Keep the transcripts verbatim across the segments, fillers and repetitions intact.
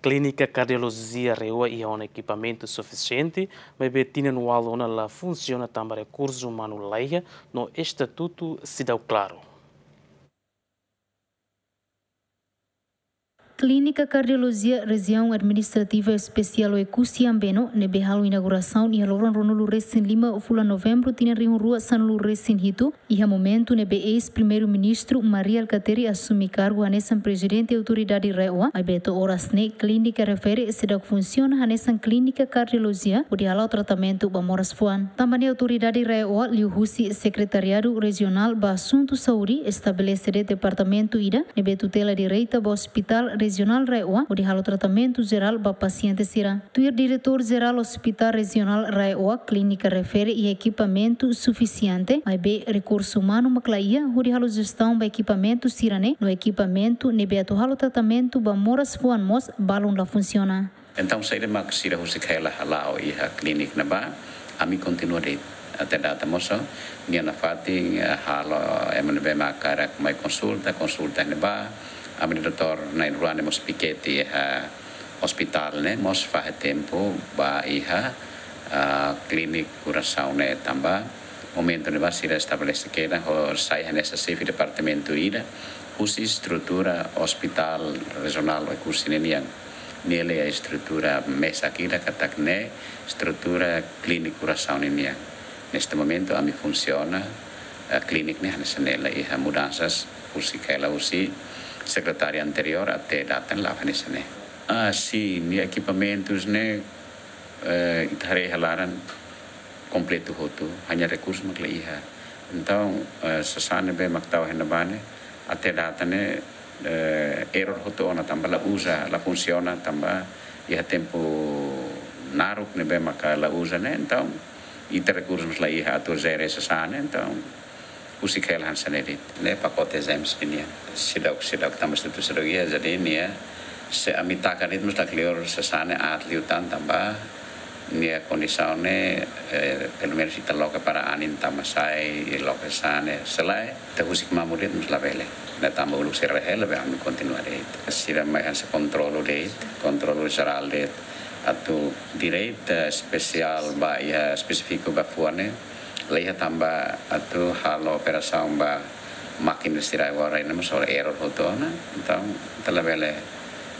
Klínika Kardiolojia RAEOA iha ona ekipamentu sufisiente, maibé tinan ualu ona la funsiona tanba rekursu umanu laiha no estatutu seidauk klaru. Klínika Kardiolojia Rejiaun Administrativa Espesiál Oekusi Ambeno, ne'ebé halo inaugurasaun iha loron ruanulu resin lima fulan Novembru tinan rihun rua sanulu resin hitu, iha momentu ne'ebé eis-Primeiru-Ministru Mari Alkatiri asume kargu hanesan Prezidente Autoridade RAEOA, maibé to'o oras ne'e klínika refere seidauk funsiona hanesan klínika kardiolojia hodi hala'o tratamentu ba moras fuan. Tanba ne'e Autoridade RAEOA liuhusi Sekretariadu Rejionál ba Asuntu Saúde estabelese de'it departamentu ida ne'ebé tutela direta ba Hospital Rejionál RAEOA hodi halo tratamentu jerál ba pasiente sira. Tuir Diretór Jerál Hospital Rejionál RAEOA, klínika refere iha ekipamentu sufisiente, maibé rekursu umanu mak la iha hodi halo jestaun ba ekipamentu sira-ne'e, no ekipamentu ne'ebé atu halo tratamentu ba moras fuan mós balun la funsiona. Entaun, saida mak sira husik hela hala'o iha klínika ne'ebá, ami kontinua de'it. Até data mós, nia nafatin, eh, halo ema ne'ebé mak hakarak mai konsulta, konsulta ne'ebá, ami-nia doutór na'in-rua ne'e mós pikete iha ospitál ne'e, mós fahe tempu ba iha, ah, klínika kurasaun ne'e tanba momentu ne'ebá sira estabelese kedan ho sai hanesan xefe departamentu ida husi estrutura Hospital Rejionál Oekusi ne'e nian. Ne'e iha estrutura mesak ida katak ne'e estrutura klínika kurasaun ne'e nian. Neste momentu ami funsiona, eh, klínika ne'e hanesan ne'e, la iha mudansa husik hela husi sekretáriu anteriór até data ne'e la'o hanesan ne'e. Ah, sin, nia ekipamentus ne'e, eh, ita haree iha laran kompletu hotu, hanya rekursu mak la iha. Entaun, eh, sasán ne'ebé mak tau iha ne'ebá ne'e, até data ne'e, eh, error hotu ona tanba la uza, la funsiona tanba iha tempu naruk ne'ebé maka la uza ne'e, entaun ita rekursu mós la iha atu jere sasán ne'e, entaun husik hela hanesan ne'e de'it. Ne'e pakote exames nian. Seidauk, seidauk tanba estatutu seidauk iha, jadi nia, se ami taka de'it mós lakleur sasán ne'e aat liután tanba nia kondisaun ne'e, eh, pelumenus ita loke para anin tama sai, i loke sasán ne'e, se lae, ita husik mamuk de'it mós labele. Ne'e tanba uluk sira hela be ami kontinua de'it. Sira mai hanesan kontrolu de'it, kontrolu jerál de'it. Atu direta espesiál ba iha espesífiku ba fuan ne'e, la iha tanba atu halo operasaun ba mákina sira agora ne'e mós error hotu ona. Entaun, ita labele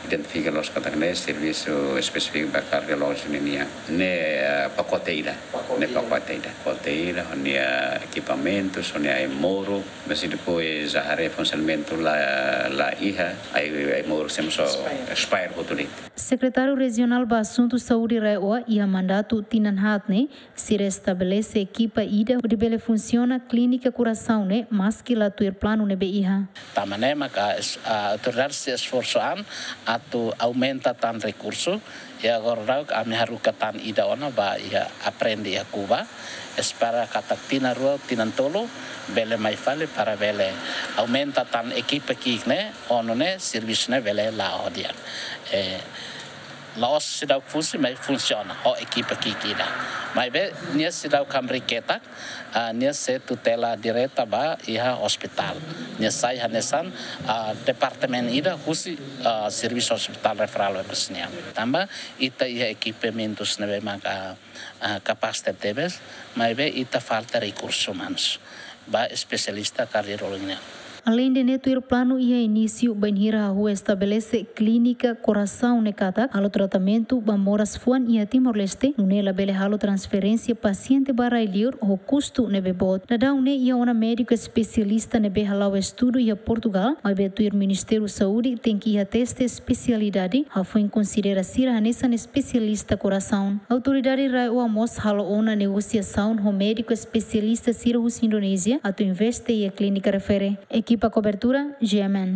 identifika loos katak ne'e servisu espesífiku ba kardiolójiku ne'e nian. Ne'e, eh, pakote ida. Ne'e pakote ida. Pakote ida, ho nia ekipamentus, ho nia ai-moruk, mas depois ita haree funsionamentu la, la iha, ai, ai-moruk sira mós expire hotu de'it. Sekretáriu Rejionál ba Asuntu Saúde RAEOA iha mandatu tinan haat ne'e, sira estabelese ekipa ida hodi bele funsiona klínika kurasaun ne'e, maski la tuir planu ne'ebé iha. Tanba ne'e maka es-, ah, autoridade sei esforsu an atu aumenta tan rekursu, i agora daudaun ami haruka tan ida ona ba iha aprende iha Kuba, espera katak tinan rua, tinan tolu, bele mai fali para bele aumenta tan ekipa ki'ik ne'e, ho nune'e servisu ne'e bele la'o di'ak. Eh, la'ós seidauk funsi, maibé funsiona ho ekipa ki'ik ida. Maibé nia seidauk hamriik ketak, ah, nia sei tutela direta ba iha ospitál. Nia sai hanesan, ah, departamentu ida husi, ah, servisu Hospital Referral Oekusi nian. Tanba ita iha ekipamentus ne'ebé maka, ah, kapás tebes, maibé ita falta rekursus umanus ba espesialista kardiolojia nian. Aleinde ne'e, tuir planu iha inísiu bainhira hahú estabelese klínika korasaun ne'e katak halo tratamentu ba moras fuan iha Timor-Leste, nune'e labele halo transferénsia pasiente ba rai-liur ho kustu ne'ebé boot. Daudaun ne'e iha ona médiku espesialista ne'ebé hala'o estudu iha Portugal, maibé tuir Ministériu Saúde tenke iha teste espesialidade, hafoin konsidera sira hanesan espesialista korasaun. Autoridade RAEOA mós halo ona negosiasaun ho médiku espesialista sira husi Indonézia atu investe iha klínika refere. Ekipa kobertura, G M N.